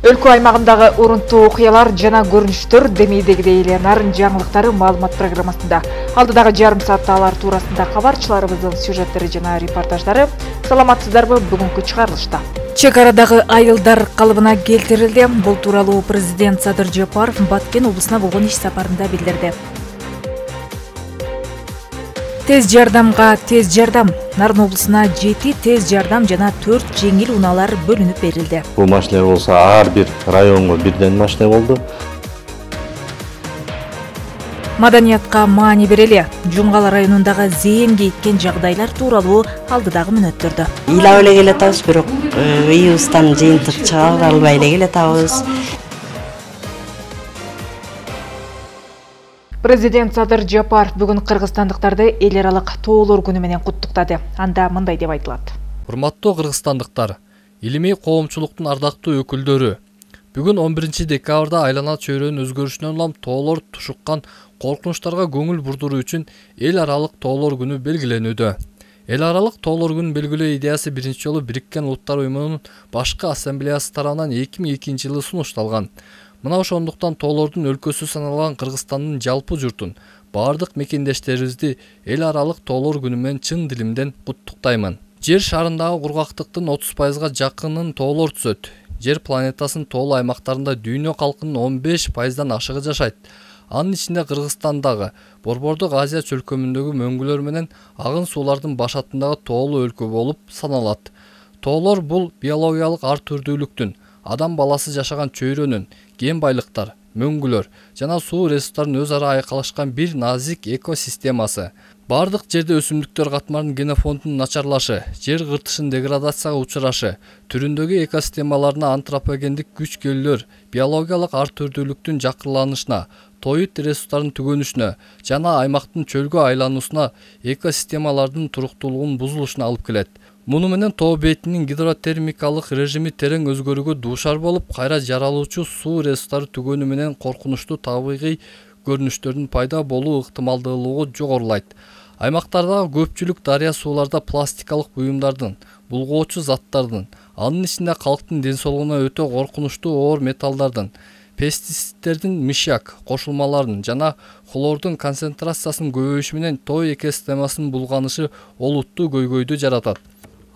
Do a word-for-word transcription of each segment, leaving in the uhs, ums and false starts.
Өлкө аймагындагы урунтуу окуялар жана көрүнүштөр демейдегидей эле нарын жаңылыктары маалымат программасында. Алдыдагы жарым саатта алар туурасында кабарчыларыбыздын сюжеттери жана репортаждары. Саламатсыздарбы, бүгүнкү чыгарылышта. Чек арадагы айылдар калыбына келтирилди. Бул тууралуу президент Садыр Жапаров Баткен облусуна болгон иш сапарында билдирди. Тез жардамга тез жардам. Нарын облусуна жети тез жардам жана төрт жеңил унаалар бөлүнүп берилди. Бул машиналар болсо ар бир районго бирден машина болду. Маданиятка маани берели. Жунгал районундагы зээн кейиткен жагдайлар тууралуу алдыдагы мүнөттөрдө. Ыйлап эле келатабыз, бирок ыйыбыздан жыйынтык чыгара албай эле келатабыз. Президент Садыр Жапаров бүгүн кыргызстандыктарды эл аралык тоолор күнү менен куттуктады. Анда мындай деп айтылат. Урматтуу кыргызстандыктар, илимий коомчулуктун ардактуу өкүлдөрү, бүгүн он биринчи декабрда айлана чөйрөнүн өзгөрүшүнөн улам тоолор тушуккан коркунучтарга көңүл бурдуруу үчүн эл аралык тоолор күнү белгиленүүдө. Эл аралык тоолор күнүн белгилөө идеясы биринчи жолу Бириккен Улуттар Уюмунун башкы ассамблеясы тарабынан эки миң экинчи жылы сунушталган. Мына ошондуктан тоолордун өлкөсү саналган Кыргызстандын жалпы журтун, бардык мекендештерибизди эл аралык тоолор күнү менен чын дилимден куттуктаймын. Жер шарындагы кургактыктын отуз пайызга жакынын тоолор түзөт. Жер планетасынын тоолуу аймактарында дүйнө калкынын он беш пайыздан ашыгы жашайт. Анын ичинде Кыргызстандагы Борбордук Азия чөлкөмүндөгү мөңгүлөр менен агын суулардын башатындагы тоолуу өлкө болуп саналат. Тоолор бул биологиялык ар түрдүүлүктүн, адам баласы жашаган чөйрөнүн, кен байлыктар, мөңгүлөр жана суу ресурстарын өз ара айкалышкан бир назик экосистемасы. Бардык жерде өсүмдүктөр катмарынын генофондунун начарлашы, жер кыртышынын деградацияга учурашы, түрүндөгү экосистемаларына антропогендик күч-келүүлөр, биологиялык ар түрдүүлүктүн жакырланышына, тоют ресурстарынын түгөнүшүнө жана аймактын чөлгө айлануусуна, экосистемалардын туруктуулугунун бузулушуна алып келет. Муну менен тоо бетинин гидротермикалык режими терең өзгөрүүгө дуушар болуп, кайра жаралуучу суу ресурстары түгөнү менен коркунучтуу табигый көрүнүштөрдүн пайда болуу ыктымалдуулугу жогорулайт. Аймактардагы көпчүлүк дарыя сууларда пластикалык буюмдардын, булгоочу заттардын, анын ичинде калктын ден соолугуна өтө коркунучтуу оор металлдардын, пестицидтердин мышьяк кошулмаларынын жана хлордун концентрациясынын көбөйүшү менен тоо экосистемасынын булганышы олуттуу көйгөйдү жаратат.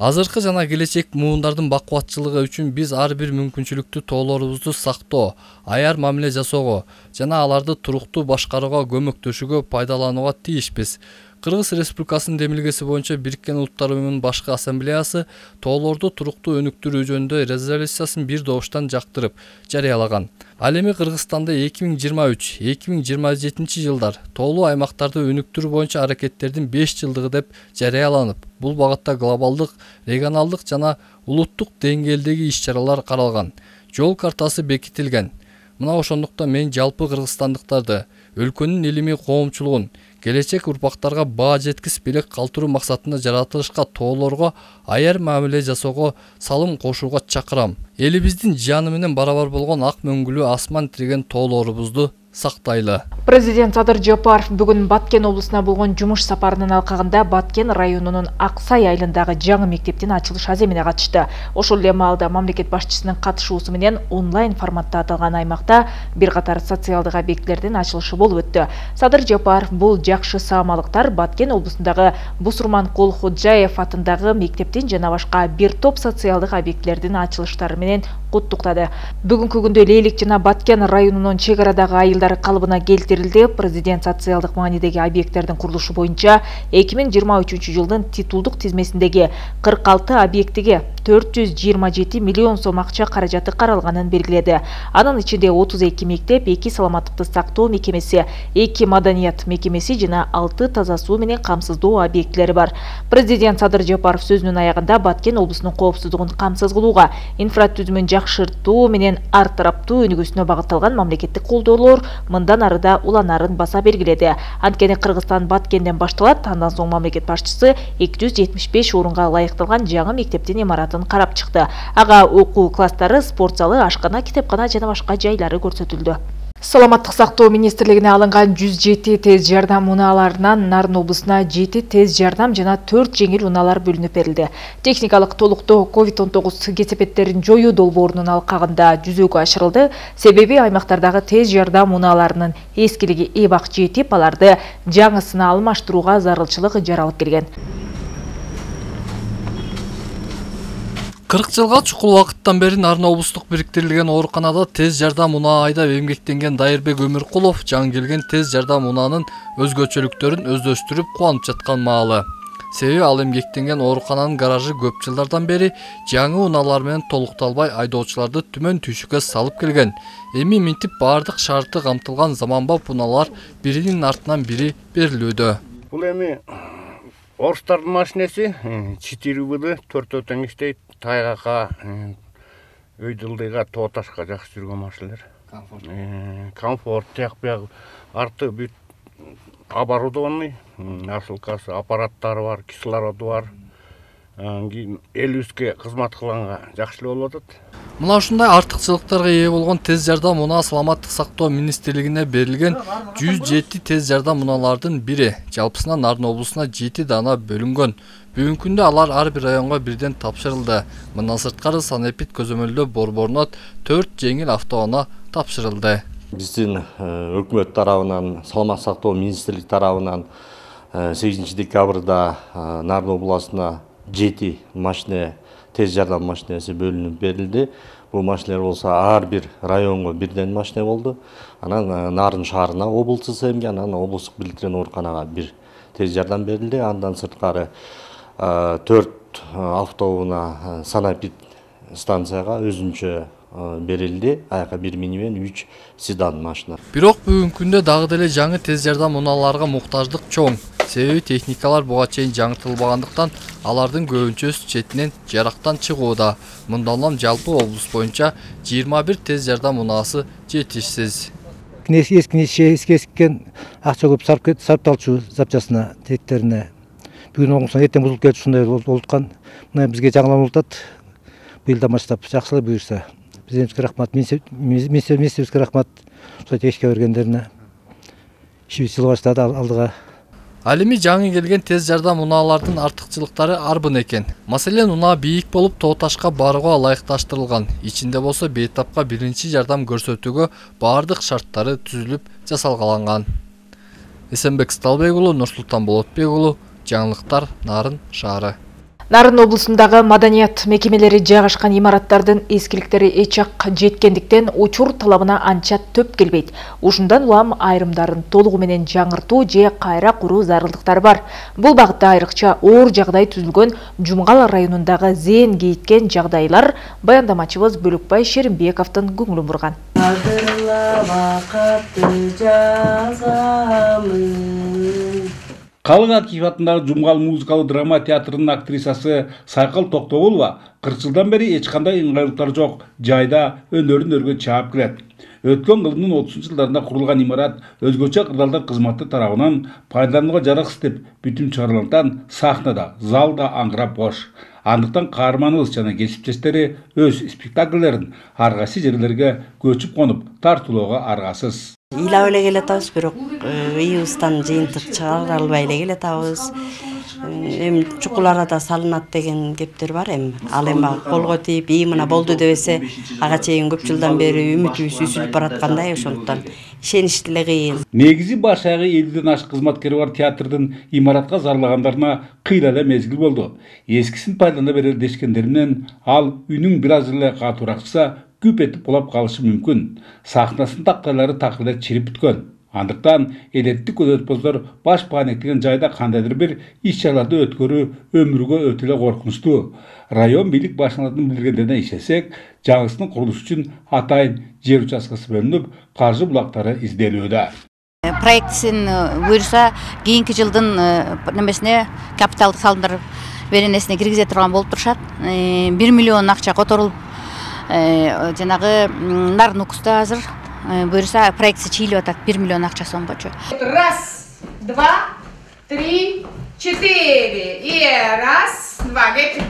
Азыркы жана келечек муундардын бакубатчылыгы үчүн биз ар бир мүмкүнчүлүктү тоолорубузду сактоо, аяр мамиле жасоого жана аларды туруктуу башкарууга көмөктөшүүгө пайдаланууга тийишпиз. Кыргыз Республикасынын демилгеси боюнча Бириккен Улуттар Уюмунун башкы ассамблеясы тоолорду туруктуу өнүктүрүү жөнүндө резолюциясын бир добуштан жактырып жарыялаган. Ал эми Кыргызстанда эки миң жыйырма үч — эки миң жыйырма жетинчи жылдар тоолуу аймактарды өнүктүрүү боюнча аракеттердин беш жылдыгы деп жарыяланып, бул багытта глобалдык, регионалдык жана улуттук деңгээлдеги иш-чаралар каралган. Жол картасы бекитилген. Мына ошондуктан мен жалпы кыргызстандыктарды, өлкөнүн илимий коомчулугун келечек урпактарга баа жеткис белек калтыруу максатында жаратылышка тоолорго аяр мамиле жасоого салым кошууга чакырам. Элибиздин жаны менен барабар болгон ак мөңгүлүү асман тиреген тоолорубузду сактайлы. Президент Садыр Жапаров бүгүн Баткен облусуна болгон жумуш сапарынын алкагында Баткен районунун Аксай айылындагы жаңы мектептин ачылыш аземине катышты. Ошол эле маалда мамлекет башчысынын катышуусу менен онлайн форматта аталган аймакта бир катар социалдык объектилердин ачылышы болуп өттү. Садыр Жапаров бул жакшы саамалыктар Баткен облусундагы Бусурман Колходжаев атындагы мектептин жана башка бир топ социалдык объектилердин ачылыштары менен куттуктады. Бүгүнкү күндө Лейлик жана Баткен районунун чек арадагы айылдар калыбына келтирилди. Президент социалдык маанидеги объекттердин курулушу боюнча эки миң жыйырма үчүнчү жылдын титулдук тизмесиндеги кырк алты объектиге төрт жүз жыйырма жети миллион сом акча каражаты каралганын белгиледи. Анын ичинде отуз эки мектеп, эки саламаттыкты сактоо мекемеси, эки маданият мекемеси жана алты таза суу менен камсыздоо объектилери бар. Президент Садыр Жапаров сөзүнүн аягында Баткен облусунун коопсуздугун камсыз кылууга, инфратүзүмүн жакшыртуу менен ар тараптуу өнүгүүсүнө багытталган мамлекеттик колдоолор мындан ары да уланарын баса белгиледи. Анткени Кыргызстан Баткенден башталат. Андан соң мамлекет башчысы эки жүз жетимиш беш орунга ылайыкталган жаңы мектептин имаратын карап чыкты. Ага окуу класстары, спорт залы, ашкана, китепкана жана башка жайлары көрсөтүлдү. Саламаттык сактоо министрлигине алынган жүз жети тез жардам унааларынан Нарын облусуна жети тез жардам жана төрт жеңил унаалар бөлүнүп берилди. Техникалык толуктоо ковид он тогуз кесепеттерин жоюу долбоорунун алкагында жүзөгө ашырылды. Себеби аймактардагы тез жардам унааларынын эскилиги эбак жетип, аларды жаңысына алмаштырууга зарылчылык жаралып келген. кырк жылга чукул убакыттан бери Нарын облустук бириктирилген ооруканада тез жардам унаа айдап эмгектенген Дайырбек Өмүркулов жаңы келген тез жардам унаанын өзгөчөлүктөрүн өздөштүрүп кубанып жаткан маалы. Себеби ал эмгектенген оорукананын гаражы көп жылдардан бери жаңы унаалар менен толукталбай айдоочуларды түмөн түйшүккө салып келген. Эми минтип баардык шарты камтылган заманбап унаалар биринин артынан бири берилүүдө. Бул эми орустардын машинеси четыре выды төртөө тең иштейт. Тайгакка, өйдүлдыйга, тоо ташка жакшы жүргөн машинелер. Комфорт, тияк бияк, арты бүт оборудованный, насылкасы, аппараттары бар, кислороду бар. Элүүскө кызмат кылганга жакшы эле болуп атат. Мына ушундай артыкчылыктарга ээ болгон тез жардам унаа Саламаттык сактоо министрлигине берилген жүз жети тез жардам унаалардын бири. Жалпысынан Нарын облусуна жети дана бөлүнгөн. Бүгүнкү күндө алар ар бир районго бирден тапшырылды. Мындан сырткары санэпид көзөмөлдөө борборуна төрт жеңил автоунаа тапшырылды. Биздин өкмөт тарабынан, Саламаттык сактоо министрлик тарабынан сегизинчи декабрда Нарын облусуна жети машина, тез жардам машинеси бөлүнүп берилди. Бул машинелер болсо ар бир районго бирден машина болду. Анан Нарын шаарына облустук эмге, анан облустук бириктирген ооруканага бир тез жардам берилди. Андан сырткары төрт автоунаа санэпид станцияга өзүнчө берилди. Аяка бир минивэн, үч седан машина. Бирок бүгүнкү күндө дагы деле жаңы тез жардам унааларга муктаждык чоң. Себеби техникалар буга чейин жаңыртылбагандыктан алардын көбүнчөсү четинен жарактан чыгууда. Мындан улам жалпы облус боюнча жыйырма бир тез жардам унаасы жетишсиз. Эски эсккен акча көп сарпталчу запчасына теттерине. Бүгүн оңусун эртең бузулуп кетип ушундай болуп аткан. Мына бизге жаңыланып атат. Быйылдан баштап жакшылап буюрса. Президентке рахмат, министрликке рахмат. Ушул тешке бергендерине. Ишибиз жылы баштады алдыга. Ал эми жаңы келген тез жардам унаалардын артыкчылыктары арбын экен. Маселен, унаа бийик болуп тоо ташка барууга ылайыкташтырылган. Ичинде болсо бейтапка биринчи жардам көрсөтүүгө баардык шарттары түзүлүп жасалгаланган. Эсенбек Сталбек уулу, Нурсултан Болотбек уулу, жаңылыктар, Нарын шаары. Нарын облусундагы маданият мекемелери жайгашкан имараттардын эскиликтери эч ак жеткендиктен учур талабына анча төп келбейт. Ушундан улам айрымдарын толугу менен жаңыртуу же кайра куруу зарылдыктары бар. Бул багытта айрыкча оор жагдай түзүлгөн Жумгал районундагы зээн кейиткен жагдайлар баяндамачыбыз Бөлөкбай Шеримбековдун көңүлүн бурган. Калык Акиев атындагы Жумгал музыкалык драма театрынын актрисасы Сайкал Токтобулова кырк жылдан бери эч кандай ыңгайлыктар жок жайда өнөрүн өргө чаап келет. Өткөн кылымдын отузунчу жылдарында курулган имарат өзгөчө кырдаалдар кызматы тарабынан пайдаланууга жараксыз деп бүтүм чыгарылгандыктан сахнада, залда аңгырап бош. Андыктан каарманыбыз жана кесиптештери өз спектакльдерин ар кайсы жерлерге көчүп конуп тартуулоого аргасыз. Ыйлап эле келатабыз, бирок ыйыбыздан жыйынтык чыгара албай эле келатабыз. Эми чукул арада салынат деген кептер бар эми. Ал эми колго тийип, "И мына болду" дебесе, ага чейин көп жылдан бери үмүтүбүз үзүлүп бараткандай, ошондуктан ишениш деле кыйын. Негизи баш аягы элүүдөн ашык кызматкери бар театрдын имаратка зарлагандарына кыйла эле мезгил болду. Эскисин пайдалана берели дешкендер менен ал үнүң бир аз эле катуураак чыкса, күп этип кулап калышы мүмкүн. Сахнасынын тактайлары так эле чирип бүткөн. Андыктан элеттик көзөтпөздөр баш паанектеген жайда кандайдыр бир иш-чараларды өткөрүү өмүргө өтө эле коркунучтуу. Район бийлик башчыларынын билдиргендерине ишенсек, жаңысынын курулушу үчүн атайын жер участкасы бөлүнүп, каржы булактары изделүүдө. Проектисин буюрса, кийинки жылдын немесине капиталдык салымдар беренесине киргизе турган болуп турушат. бир миллион акча которулуп, жанагы Нарын укуста азыр буюрса проектisi чыйлып атат бир миллион акча сомгочу. Раз, два, три, четыре. И раз, два, get.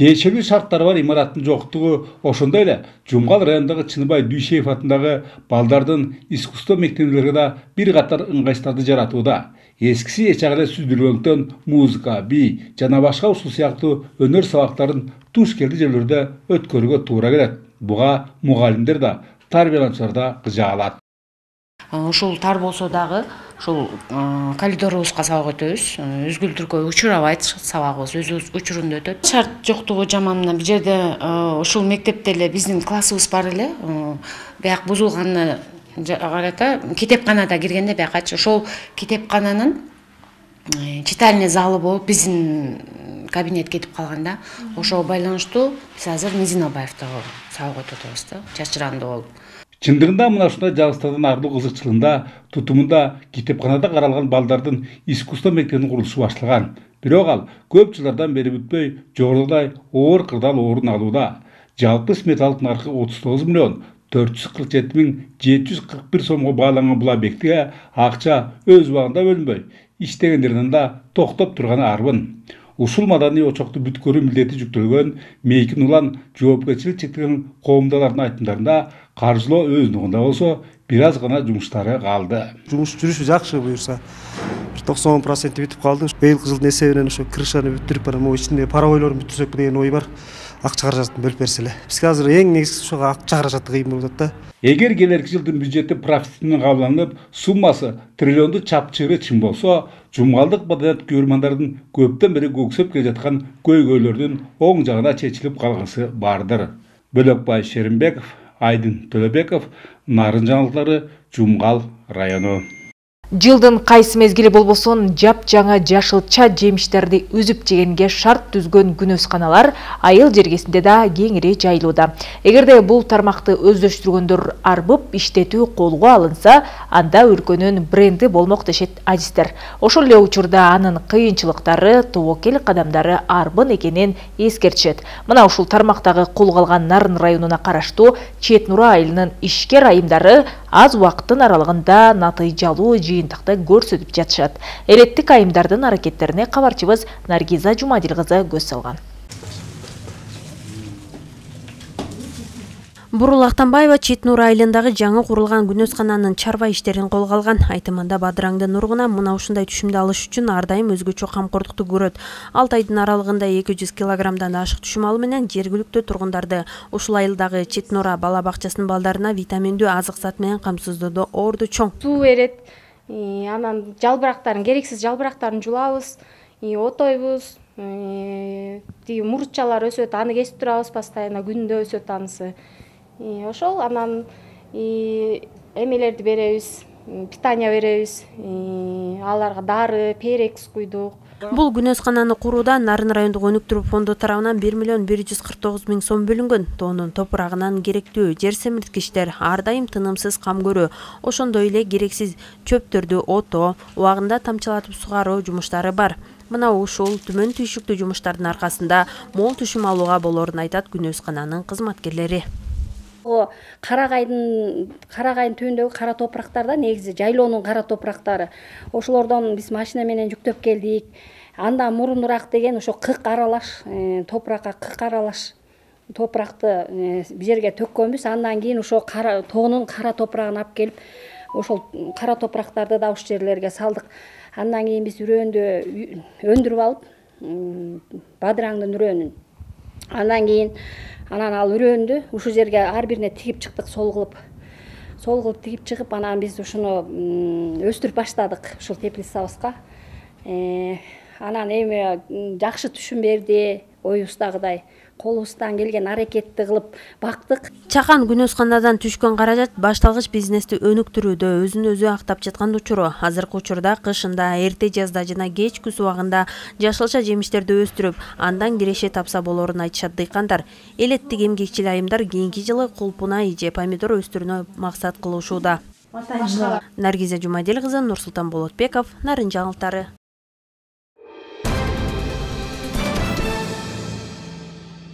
тиешелүү шарттары бар имараттын жоктугу, ошондой эле Жумгал районундагы Чыныбай Дүйшеев атындагы балдардын искусство мектебинде да бир катар ыңгайсыздарды жаратууда. Эскиси эч ак эле сүздүргөндүктөн музыка, би жана башка ушул сыяктуу өнөр сабактарын туш келди жерлерде өткөрүүгө туура келет. Буга мугалимдер да, тарбиялануучулар да кыжаалат. Ушул тар болсо дагы ушул коридорубузга сабак өтөбүз. Үзгүлтүркөй учурабайт сабагыбыз, өз учурунда өтөт. Шарт жоктугу жаман. Бул жерде ушул мектепте эле биздин классыбыз бар эле. Бияк бузулганына карата китепканада киргенде биякачы ошол китепкананын читальный залы болуп биздин кабинет кетип калганда, ошого байланыштуу биз азыр Низин Абаевдагы сабак өтүп атабыз да, чачырандуу болуп. Чындыгында мына ушундай жабыстардан ардуу кызыкчылыгында тутумунда китепканада каралган балдардын искусство мектебинин курулушу башталган. Бирок ал көп жылдардан бери бүтпөй, жогорудагы оор кырдаал орун алууда. Жалпы сметалык наркы отуз тогуз миллион төрт жүз кырк жети миң жети жүз кырк бир сомго бааланган бул объектиге акча өз убагында бөлүнбөй, иштегендерден да токтоп турганы арбын. Ушул маданий очокту бүткөрүү милдети жүктөлгөн Мейкин Улан жоопкерчилик чектелген коомдоолордун айтымдарында каржылоо өздүгүндө болсо бир аз гана жумуштары калды. Жумуш жүрүшү жакшы буюрса. токсон процент бүтүп калды. Быйылкы жылдын эсебинен ошо крышаны бүттүрүп анан могу ичинде паровойлорун бүтүрсөк деген ой бар. Акча каражатын бөлүп берсе эле. Бизге азыр эң негизгиси ошого акча каражаты кыйын болуп атат да. Эгер келерки жылдын бюджети профицит менен кабылданып, суммасы триллионду чапчыры чын болсо, Жумгалдык маданият көрмандардын көптөн бери көксөп келе жаткан көйгөйлөрдүн оң жагына чечилип калгысы бардыр. Бөлөкбай Шеримбеков, Айдын Төлөбеков, Нарын жаңылыктары, Жумгал району. Жылдын кайсы мезгили болбосун жап жаңа жашылча жемиштерди үзүп жегенге шарт түзгөн күнөсканалар айыл жергесинде да кеңири жайылууда. Эгерде бул тармакты өздөштүргөндөр арбып иштетүү колго алынса, анда өлкөнүн бренди болмок дешет адистер. Ошол эле учурда анын кыйынчылыктары, тобокел кадамдары арбын экенин эскертишет. Мына ушул тармактагы колго алган Нарын районуна караштуу Чет Нура айылынын ишкер айымдары аз убакыттын аралыгында натыйжалуу жыйынтыкты көрсөтүп жатышат. Элеттик айымдардын аракеттерине кабарчыбыз Наргиза Жумадил кызы көз салган. Бурул Актанбаева Чет Нура айылындагы жаңы курулган күнөскананын чарба иштерин колго алган. Айтымында Бадыраңды Нургуна мына ушундай түшүмдү алыш үчүн ар дайым өзгөчө камкордукту көрөт. алты айдын аралыгында эки жүз килограммдан ашык түшүм алуу менен жергиликтүү тургундарды ушул айылдагы Чет Нура бала бакчасынын балдарына витаминдүү азык зат менен камсыздоодо орду чоң. Суу берет, анан жалбырактарын, керексиз жалбырактарын жулабыз, отойбуз, тиги мурутчалар өсөт, аны кесип турабыз постоянно, күндө өсөт анысы. Ошол анан эмелерди беребиз, питание беребиз, аларга дары, перекс куйдук. Бул күнөскананы курууда Нарын райондук өнүктүрүү фонду тарабынан бир миллион бир жүз кырк тогуз миң сом бөлүнгөн. Тоонун топурагынан керектүү жер семирткичтер ар дайым тынымсыз кам көрүү, ошондой эле керексиз чөптөрдү отоо, убагында тамчылатып сугаруу жумуштары бар. Мына ушул түмөн түйшүктүү жумуштардын аркасында мол түшүм алууга болорун айтат күнөскананын кызматкерлери. Карагайдын Карагайдын түбүндөгү кара топурактарда негизи жайлоонун кара топурактары. Ошолордон биз машина менен жүктөп келдик. Андан мурунураак деген ошо кырк аралаш топуракка кырк аралаш топуракты бул жерге төккөнбүз. Андан кийин ошо кара тоонун кара топурагын алып келип, ошол кара топурактарды да ушул жерлерге салдык. Андан кийин биз үрөөндө өндүрүп алып, Бадыраңдын үрөөнүн. Андан кийин анан ал үрөөндү ушул жерге ар бирине тигип чыктык, сол кылып. Сол кылып тигип чыгып, анан биз ушуну өстүрүп баштадык ушул теплицабызга. Анан эми жакшы түшүм берди, оюбуздагыдай. Колубуздан келген аракетти кылып бактык. Чакан күнөсканадан түшкөн каражат башталгыч бизнести өнүктүрүүдө өзүн өзү актап жаткан учуру. Азыркы учурда кышында, эрте жазда жана кеч күз убагында жашылча жемиштерди өстүрүп, андан киреше тапса болорун айтышат дыйкандар. Элеттик эмгекчил айымдар кийинки жылы кулпунай же помидор өстүрүүнү максат кылышууда. Наргиза Жумадил кызы, Нурсултан Болотбеков, Нарын жаңылыктары.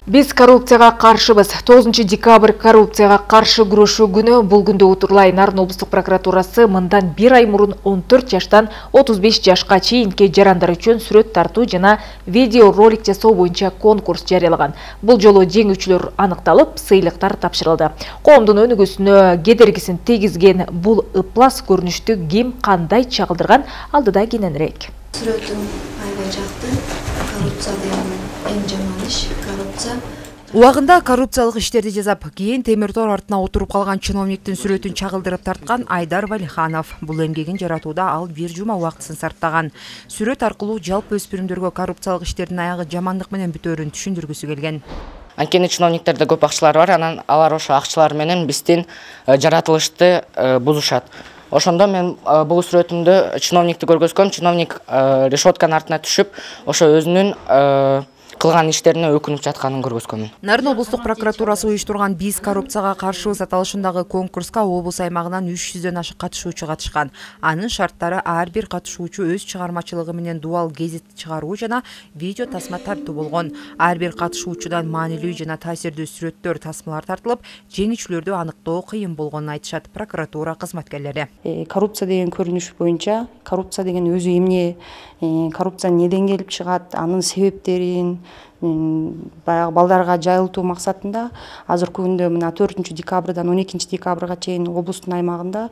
Биз коррупцияга каршыбыз. тогузунчу декабрь коррупцияга каршы күрөшүү күнү. Бул күндө утурлай Нарын облустук прокуратурасы мындан бир ай мурун он төрт жаштан отуз беш жашка чейинки жарандар үчүн сүрөт тартуу жана видео ролик жасоо боюнча конкурс жарыялаган. Бул жолу жеңүүчүлөр аныкталып, сыйлыктар тапшырылды. Коомдун өнүгүүсүнө кедергисин тийгизген бул ыплас көрүнүштү ким кандай чагылдырган, алдыда кененирээк. Сүрөтүм аябай жакты. Коррупция деген эң жаман иш. Коррупция. Убагында коррупциялык иштерди жасап, кийин темир тор артына отуруп калган чиновниктин сүрөтүн чагылдырып тарткан Айдар Валиханов. Бул эмгегин жаратууда ал бир жума убактысын сарптаган. Сүрөт аркылуу жалпы өспүрүмдөргө коррупциялык иштердин аягы жамандык менен бүтөөрүн түшүндүргүсү келген. Анткени чиновниктерде көп акчалар бар, анан алар ошо акчалар менен биздин жаратылышты бузушат. Ошондо мен бул сүрөтүмдө чиновникти көргөзгөм, чиновник решетканын артына түшүп, ошо өзүнүн кылган иштерине өкүнүп жатканын көргөзгөмүн. Нарын облустук прокуратурасы уюштурган «Биз коррупцияга каршыбыз» аталышындагы конкурска облус аймагынан үч жүздөн ашык катышуучу катышкан. Анын шарттары ар бир катышуучу өз чыгармачылыгы менен дуал гезит чыгаруу жана видео тасма тартуу болгон. Ар бир катышуучудан маанилүү жана таасирдүү сүрөттөр, тасмалар тартылып, жеңүүчүлөрдү аныктоо кыйын болгонун айтышат прокуратура кызматкерлери. Коррупция деген көрүнүш боюнча, коррупция деген өзү эмне, коррупция неден келип чыгат, анын себептерин баягы балдарга жайылтуу максатында азыркы күндө мына төртүнчү декабрдан он экинчи декабрга чейин облустун аймагында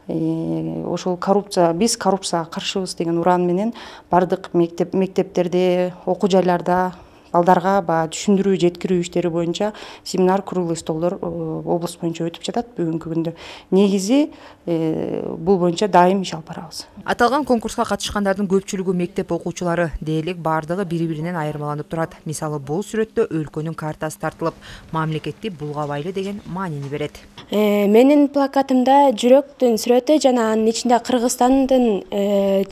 ошол коррупция, биз коррупцияга каршыбыз деген уран менен бардык мектеп мектептерде, окуу жайларда балдарга баягы түшүндүрүү, жеткирүү иштери боюнча семинар, круглый столдор облус боюнча өтүп жатат бүгүнкү күндө. Негизи бул боюнча дайым иш алып барабыз. Аталган конкурска катышкандардын көпчүлүгү мектеп окуучулары, дээрлик бардыгы бири-биринен айырмаланып турат. Мисалы, бул сүрөттө өлкөнүн картасы тартылып, мамлекетти булгабайлы деген маанини берет. Менин плакатымда жүрөктүн сүрөтү жана анын ичинде Кыргызстандын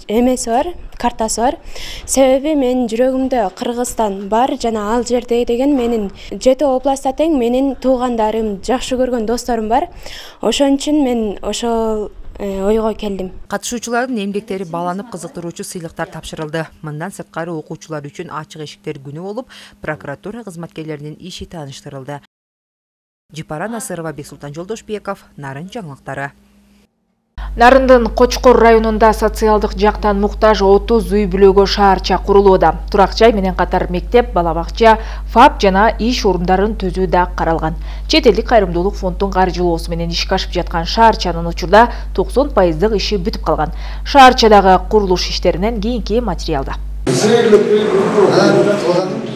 эмеси бар, картасы бар. Себеби менин жүрөгүмдө Кыргызстан бар жана ал жерде деген менин жети областта тең менин туугандарым, жакшы көргөн досторум бар. Ошон үчүн мен ошол ойго келдим. Катышуучулардын эмгектери бааланып кызыктыруучу сыйлыктар тапшырылды. Мындан сырткары окуучулар үчүн ачык эшиктер күнү болуп, прокуратура кызматкерлеринин иши тааныштырылды. Жипара Насырова, Бексултан Жолдошбеков, Нарын жаңылыктары. Нарындын Кочкор районунда социалдык жактан муктаж отуз үй бүлөгө шаарча курулууда. Турак жай менен катар мектеп, бала бакча, ФАП жана иш орундарын түзүү да каралган. Чет элдик кайрымдуулук фонддун каржылоосу менен ишке ашып жаткан шаарчанын учурда токсон пайыздык иши бүтүп калган. Шаарчадагы курулуш иштеринен кийинки материалда.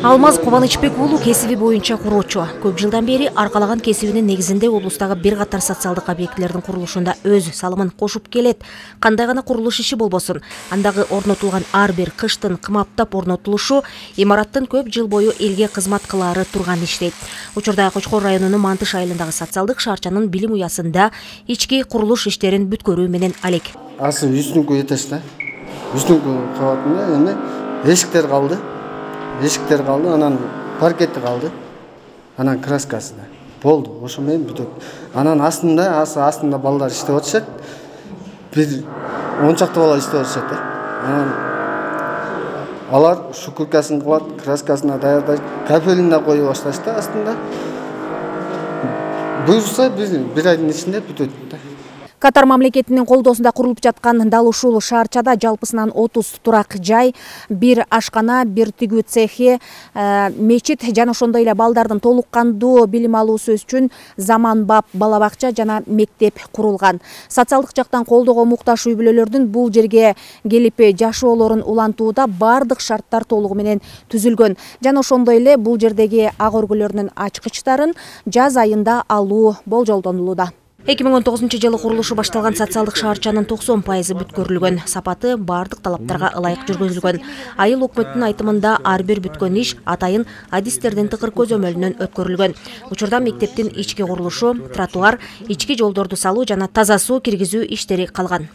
Алмаз Кубанычбек уулу кесиби боюнча куроочу. Көп жылдан бери аркалаган кесибинин негизинде облустагы бир катар социалдык объектилердин курулушунда өз салымын кошуп келет. Кандай гана курулуш иши болбосун, андагы орнотулган ар бир кыштын кымаптап орнотулушу имараттын көп жыл бою элге кызмат кылаары турган иштейт. Учурда Кочкор районунун Мантыш айылындагы социалдык шаарчанын билим уясында ички курулуш иштерин бүткөрүү менен алек. Асы үстүңкү этажда, үстүңкү кабатында эми эшиктер калды. Эшиктер калды, анан паркети калды. Анан краскасы да. Болду, ошо менен бүтөт. Анан астында, асы астында балдар иштеп атышат. Бир он чакты бала иштеп атышат. Анан алар шукуркасын кылат, краскасына даярдайт, капелин да коюп башташты астында. Буюрса бир айдын ичинде бүтөт да. Катар мамлекетинин колдоосунда курулуп жаткан дал ушул шаарчада жалпысынан отуз турак жай, бир ашкана, бир тигүү цехи, мечит жана ошондой эле балдардын толук кандуу билим алуусу үчүн заманбап бала бакча жана мектеп курулган. Социалдык жактан колдоого муктаж үй бүлөлөрдүн бул жерге келип жашоолорун улантууда бардык шарттар толугу менен түзүлгөн. Жана ошондой эле бул жердеги ак өргөлөрдүн ачкычтарын жаз айында алуу болжолдонулууда. эки миң он тогузунчу жылы курулушу башталган социалдык шаарчанын токсон пайызы бүткөрүлгөн. Сапаты бардык талаптарга ылайык жүргүзүлгөн. Айыл өкмөттүн айтымында ар бир бүткөн иш атайын адистердин тыкыр көзөмөлүнөн өткөрүлгөн. Учурда мектептин ички курулушу, тротуар, ички жолдорду салуу жана таза суу киргизүү иштери калган.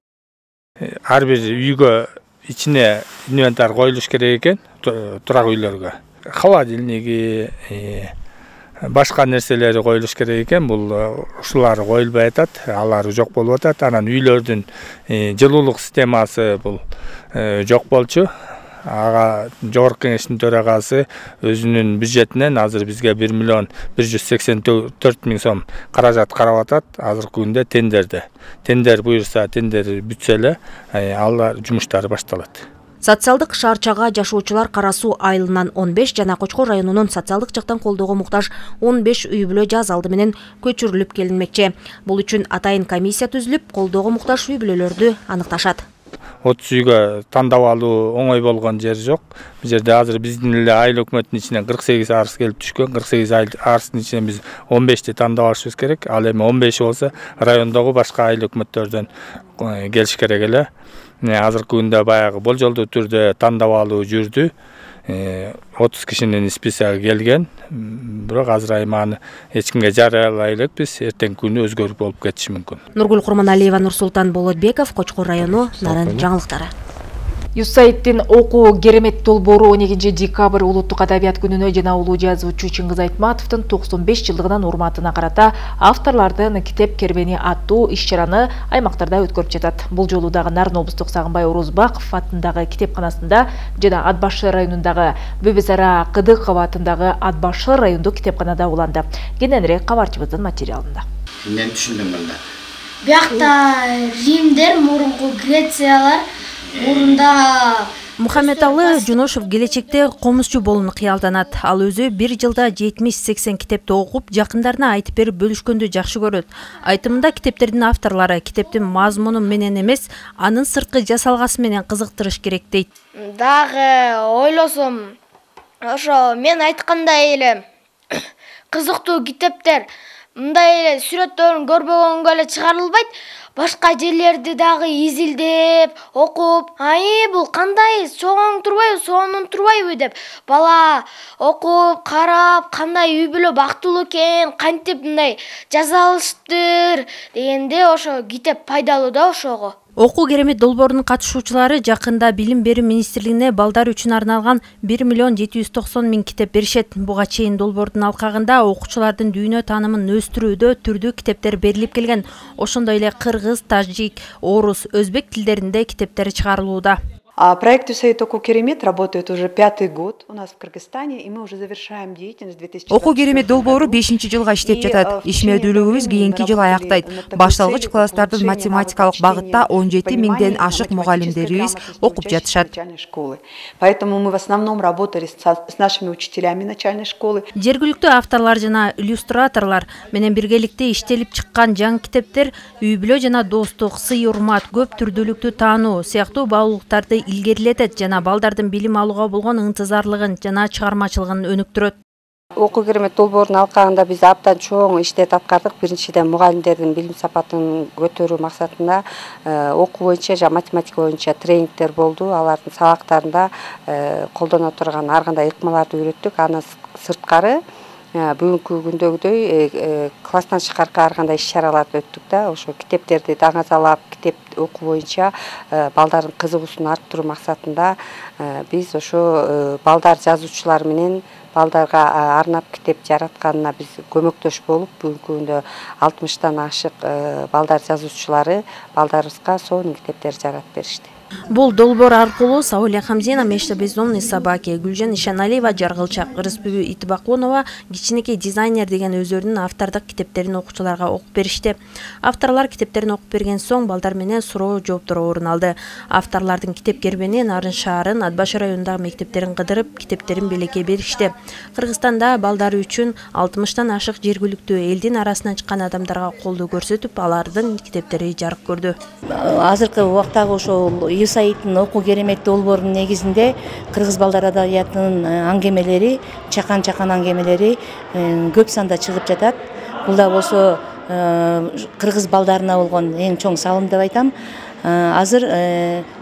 Ар бир үйгө ичине инвентарь коюлуш керек экен, турак үйлөргө. Холодильниги, башка нерселери коюлуш керек экен. Бул ушулар коюлбай атат, алар жок болуп атат. Анан үйлөрдүн жылуулук системасы бул жок болчу. ага жогорку кеңештин төрагасы өзүнүн бюджетинен азыр бизге бир миллион бир жүз сексен төрт миң сом каражат карап атат. Азыркы күндө тендерде. Тендер буюрса, тендер бүтсө эле алар жумуштары башталат. Социалдык шаарчага жашоочулар Кара Суу айылынан он беш жана Кочкор районунун социалдык жактан колдоого муктаж он беш үй бүлө жаз алды менен көчүрүлүп келинмекчи. Бул үчүн атайын комиссия түзүлүп, колдоого муктаж үй бүлөлөрдү аныкташат. отуз үйгө тандап алуу оңой болгон жер жок. Бул жерде азыр биздин эле айыл өкмөтүнүн ичинен кырк сегиз арыз келип түшкөн. кырк сегиз арыздын ичинен биз он бешти тандап алышыбыз керек. Ал эми он беши болсо райондогу башка айыл өкмөттөрдөн келиш керек эле. Азыркы күндө баягы болжолдуу түрдө тандап алуу жүрдү. отуз кишинин списоги келген. Бирок азыр айманы эч кимге жарыялай элекпиз. Эртеңки күнү өзгөрүп болуп кетиши мүмкүн. Нургүл Курманалиева, Нурсултан Болотбеков, Кочкор району, Нарын жаңылыктары. Юсаиттин окуу керемет долбоору он экинчи декабрь улуттук адабият күнүнө жана улуу жазуучу Чыңгыз Айтматовдун токсон беш жылдыгынын урматына карата авторлордун китеп кербени аттуу иш-чараны аймактарда өткөрүп жатат. Бул жолу дагы Нарын облустук Сагынбай Орозбаков атындагы китепканасында жана Ат Башы районундагы Бөбөзара Кыдыкова атындагы Ат Башы райондук китепканада уланды. Кененирээк кабарчыбыздын материалында. Мен түшүндүм мында. Биякта Римдер, мурунку Грециялар, мурунда Мухаммедалы Жуношев келечекте комузчу болууну кыялданат. Ал өзү бир жылда жетимиш сексен китепти окуп, жакындарына айтып берип бөлүшкөндү жакшы көрөт. Айтымында китептердин авторлору китептин мазмуну менен эмес, анын сырткы жасалгасы менен кызыктырыш керек дейт. Дагы ойлосом, ошо мен айткандай эле кызыктуу китептер мындай эле сүрөттөрүн көрбөгөнгө эле чыгарылбайт. Башка жерлерди дагы изилдеп, окуп, ай бул кандай чоң турбайбы, сонун турбайбы деп бала окуп, карап, кандай үй бүлө бактылуу экен, кантип мындай жаза алыштыр дегенде ошо китеп пайдалуу да ошого. Окуу керемет долбоорунун катышуучулары жакында Билим берүү министрлигине балдар үчүн арналган бир миллион жети жүз токсон миң китеп беришет. Буга чейин долбоордун алкагында окуучулардын дүйнө таанымын өстүрүүдө түрдүү китептер берилип келген. Ошондой эле кыргыз, тажик, орус, өзбек тилдеринде китептер чыгарылууда. Проект «Юсаид Окуу Керемет» работает уже пятый год у нас в Кыргызстане, и мы уже завершаем деятельность две тысячи Окуу Керемет долбоору бешинчи жылга иштеп жатат. Ишмердүүлүгүбүз кийинки жылы аяктайт. Башталгыч класстардын математикалык багытта он жети миңден ашык мугалимдерибиз окуп жатышат. Поэтому мы в основном работали с нашими учителями начальной школы. Жергиликтүү авторлор жана иллюстраторлор менен биргеликте иштелип чыккан жаңы китептер үй бүлө жана достук, сый-урмат, көп түрдүүлүктү таануу сыяктуу баалуулуктарды илгерилетет жана балдардын билим алууга болгон ынтызарлыгын жана чыгармачылыгын өнүктүрөт. Окуу керемет долбоорунун алкагында биз абдан чоң иштеп аткардык. Биринчиден мугалимдердин билим сапатын көтөрүү максатында окуу боюнча жана математика боюнча тренингдер болду. Алардын сабактарында колдоно турган ар кандай ыкмаларды үйрөттүк. Андан сырткары бүгүнкү күндөгүдөй класстан тышкаркы ар кандай иш-чараларды өттүк да. Ошо китептерди даңазалап, китеп окуу боюнча балдардын кызыгуусун арттыруу максатында биз ошо балдар жазуучулар менен балдарга арнап китеп жаратканына биз көмөктөш болуп, бүгүнкү күндө алтымыштан ашык балдар жазуучулары балдарыбызга сонун китептер жаратып беришти. Бул долбоор аркылуу Сауля Хамзина, Мешта Бездомный собаки, Гүлжан Ишаналиева, Жаргылчак, Рыспүбү Итбакунова, кичинекей дизайнер деген өздөрүнүн автордук китептерин окуучуларга окуп беришти. Авторлор китептерин окуп берген соң балдар менен суроо жооптор орун алды. Авторлордун китеп кербени Нарын шаарын, Ат Башы районундагы мектептерин кыдырып, китептерин белекке беришти. Кыргызстанда балдар үчүн алтымыштан ашык жергиликтүү элдин арасынан чыккан адамдарга колдоо көрсөтүп, алардын китептери жарык көрдү. Азыркы убактагы ошол Юсаидтин Окуу Керемет долбоорунун негизинде кыргыз балдар адабиятынын аңгемелери, чакан-чакан аңгемелери көп санда чыгып жатат. Бул да болсо кыргыз балдарына болгон эң чоң салым деп айтам. Азыр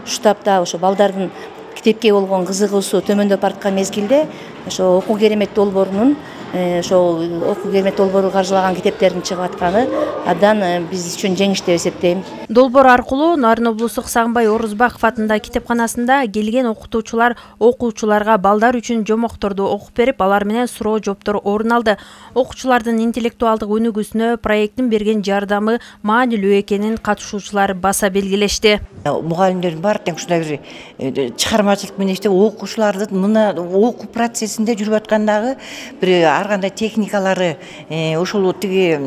ушу тапта ошо балдардын китепке болгон кызыгуусу төмөндөп бараткан мезгилде ошо Окуу Керемет долбоорунун ошол окуу керемет долбоору каржылаган китептердин чыгып атканы абдан биз үчүн жеңиш деп эсептейм. Долбоор аркылуу Нарын облустук Сагынбай Орузбаков атындагы китепканасында келген окутуучулар окуучуларга балдар үчүн жомокторду окуп берип, алар менен суроо жооптор орун алды. Окуучулардын интеллектуалдык өнүгүүсүнө проекттин берген жардамы маанилүү экенин катышуучулар баса белгилешти. Мугалимдердин баары тең ушундай бир чыгармачылык менен иштеп, окуучулардын мына окуу процессинде жүрүп аткандагы бир ар кандай техникалары, ошол тиги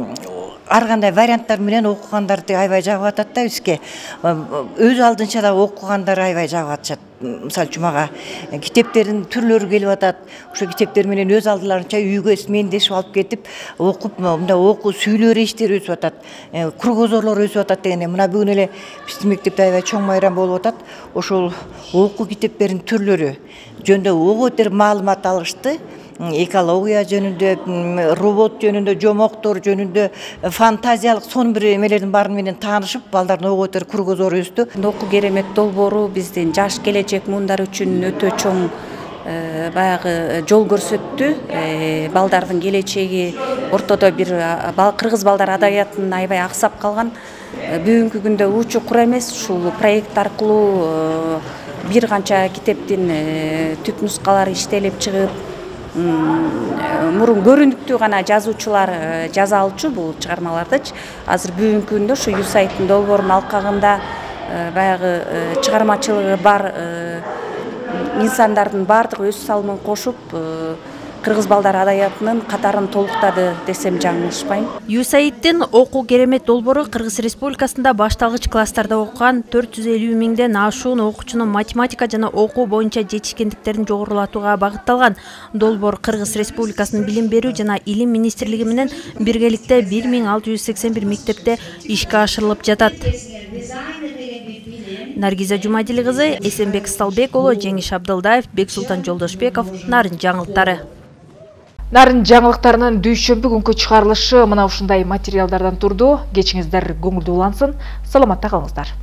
ар кандай варианттар менен окугандарды аябай жагып атат да бизге. Өз алдынча да окугандар аябай жагып атышат. Мисалы үчүн мага китептердин түрлөрү келип атат. Ошо китептер менен өз алдыларынча үйгө мендешип алып кетип, окуп, мындай окуу сүйлөө речтери өсүп атат. Кругозорлор өсүп атат дегенде, мына бүгүн эле биздин мектепте аябай чоң майрам болуп атат. Ошол окуу китептердин түрлөрү жөнүндө ого бетер маалымат алышты. Экология жөнүндө, робот жөнүндө, жомоктор жөнүндө, фантазиялык сонун бир эмелердин баары менен таанышып, балдардын ого бетер кругозору өстү. Окуу керемет долбоору биздин жаш келечек муундар үчүн өтө чоң баягы жол көрсөттү. Балдардын келечеги ортодо бир кыргыз балдар адабиятын аябай аксап калган. Бүгүнкү күндө учу кур эмес, ушул проект аркылуу бир канча китептин түп нускалары иштелип чыгып, мурун көрүнүктүү гана жазуучулар жаза алчу бул чыгармалардычы. Азыр бүгүнкү күндө ушу юсайттын долбоорунун алкагында баягы чыгармачылыгы бар инсандардын баардыгы өз салымын кошуп, кыргыз балдар адабиятынын катарын толуктады десем жаңылышпайм. Юсайттын окуу керемет долбоору Кыргыз Республикасында башталгыч класстарда окуган төрт жүз элүү миңден ашуун окуучунун математика жана окуу боюнча жетишкендиктерин жогорулатууга багытталган. Долбоор Кыргыз Республикасынын Билим берүү жана Илим министрлиги менен биргеликте бир миң алты жүз сексен бир мектепте ишке ашырылып жатат. Наргиза Жумадили кызы, Эсенбек Сталбек уулу, Жеңиш Абдылдаев, Бексултан Жолдошбеков, Нарын жаңылыктары. Нарын жаңылыктарынын дүйшөмбү күнкү чыгарылышы мына ушундай материалдардан турду. Кечиңиздер көңүлдүү улансын. Саламатта калыңыздар.